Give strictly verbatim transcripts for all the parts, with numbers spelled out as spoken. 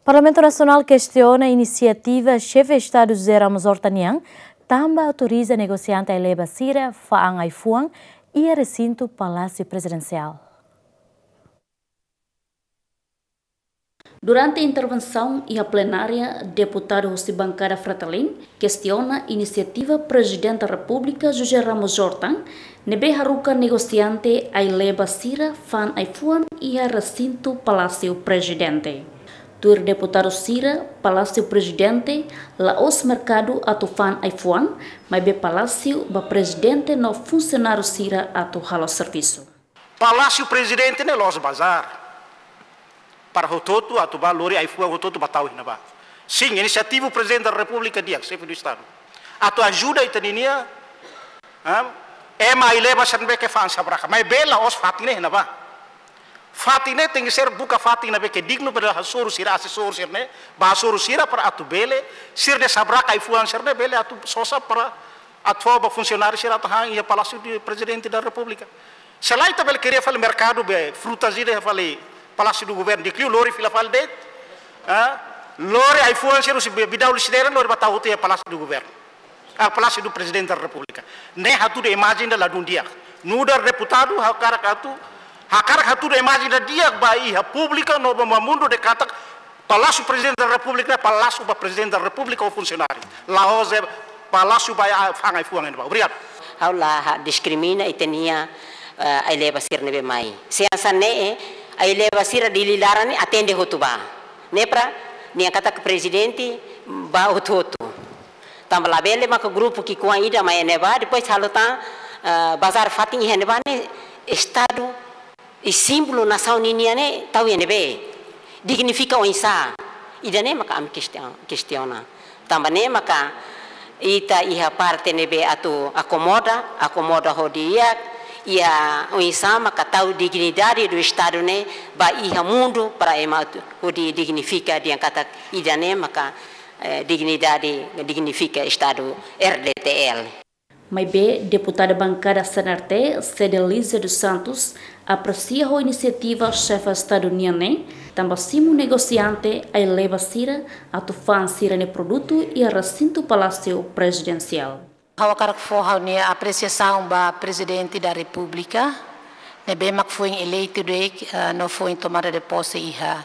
Parlamentu Nasionál kestiona inisiativa Xefe Estadu José Ramos Horta nian, tanba autoriza negosiante ai-leba sira fa'an ai-fuan iha resintu Palásiu Prezidensiál. Durante intervensaun iha plenária, deputadu husi bankada Fretilin kestiona inisiativa Prezidente Repúblika José Ramos Horta, ne'ebé haruka negosiante ai-leba sira fa'an ai-fuan iha resintu Palásiu Prezidente. Tuir deputadu sira, Palásiu Prezidente la'ós merkadu atu fa'an ai-fuan, maibé palásiu ba prezidente no funsionáriu sira atu halo servisu. Palásiu Prezidente ne'e la'ós bazár para hotu-hotu atu bá lori ai-fuan hotu-hotu bá tau iha ne'ebá. Sin, inisiativa Prezidente da Repúblika di'ak, Xefe do Estadu, atu ajuda ita-nia, ah, ema ai-leba sira ne'ebé ke fa'an sabraka. Maibé la'ós fatin ne'e iha ne'ebá. Fatin ne'e tenke ser buka fatin ne'ebé ke dignu para hasoru sira, asesór sira-ne'e, bá hasoru sira para atu bele, sira ne'ebé sabraka ai-fuan sira-ne'e bele atu sosa para atu fó ba funsionáriu sira atu han iha Palásiu Prezidente da Repúblika. Se lae ita bele kria fali merkadu be frutas ida iha fali Palásiu do Governu, di'ak liu lori fila fali de'it. Ah, lori ai-fuan sira husi Be-, Bidau Lisidera lori bá tau hotu iha Palásiu do Governu. Ah, Palásiu do Prezidente da Repúblika. Ne'e hatudu imajen ida ladún di'ak. Nu'udar deputadu hakarak atu, hakarak hatudu imajen ida di'ak ba iha públiku no ba mundu dehan katak Palásiu Prezidente da Repúblika, Palásiu ba Prezidente da Repúblika ou funsionáriu. La'ós palásiu ba, ah, fa'an ai-fuan iha ne'ebá. Obrigadu. Ha'u la diskrimina ita-nia, eh, ai-leba sira ne'ebé mai. Se hanesan ne'e, ai-leba sira Dili laran ne'e atende hotu bá. Ne'e para, nia katak prezidente bá hotu-hotu. Tanba labele maka grupu ki'ikoan ida mai iha ne'ebá, depois halo tan, eh, bazár fatin iha ne'ebá ne'e, Estadu i símbolu nasaun ninian ne'e tau iha ne'ebé? Dignifika oinsá? Ida-ne'e maka ami kestion-, kestiona. Tanba ne'e maka ita iha parte ne'ebé atu akomoda, akomoda ho di'ak, iha oinsá maka tau dignidade do Estadu ne'e ba iha mundu para ema atu hodi dignifika dehan katak ida-ne'e maka, eh, dignidade, dignifika Estadu R D T L. Maibé, deputada bankada C N R T, Cedelízia dos Santos, apresia ho inisiativa Xefe Estadu nian ne'e, tanba simu negosiante ai-leba sira atu fa'an sira-nia produtu iha resintu Palásiu Prezidensiál. Ha'u hakarak fó ha'u-nia apresiasaun ba Prezidente da Repúblika, ne'ebé mak foin eleitu de'it, eh, no foin tomada de pose iha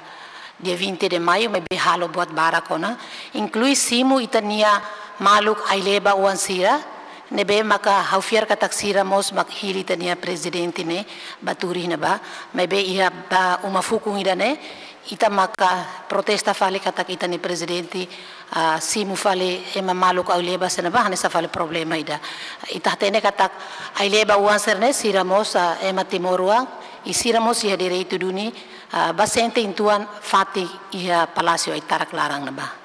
dia vinte de maio, maibé halo buat barak ona, inklui simu ita-nia maluk ai-leba oan sira, ne'ebé maka ha'u fiar katak sira mós mak hili ita-nia prezidente ne'e bá tuur iha ne'ebá, maibé iha ba uma fukun ida-ne'e, ita maka protesta fali katak ita-nia prezidente, ah, simu fali ema maluk ai-leba sira ne'ebá, hanesan fali problema ida. Ita hatene katak ai-leba oan sira-ne'e, sira mós, ah, ema timoroan, i sira mós iha direitu duni, ah, bá sente uitoan fatin iha Palásiu Aitarak laran ne'ebá.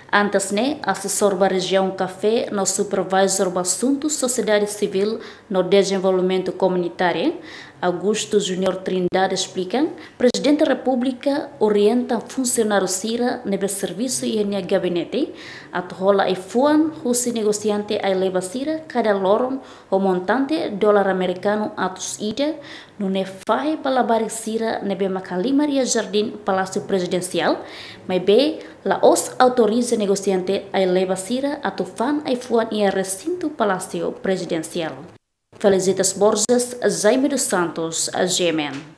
Antes ne'e, asesór ba rejiaun Café no supervisór ba asuntu sosiedade sivíl no dezenvolvimentu komunitáriu, Augusto Júnior Trindade esplika, Prezidente Repúblika orienta funsionáriu sira ne'ebé servisu iha nia gabinete atu hola ai-fuan husi negosiante ai-leba sira kada loron ho montante dolar amerikanu atus ida, nune'e fahe ba labarik sira ne'ebé mak halimar iha jardín Palásiu Prezidensiál, maibé la'ós autoriza negosiante ai-leba sira atu fa'an ai-fuan iha resintu Palásiu Prezidensiál. Felicitas Borges, Jaime dos Santos, G M N.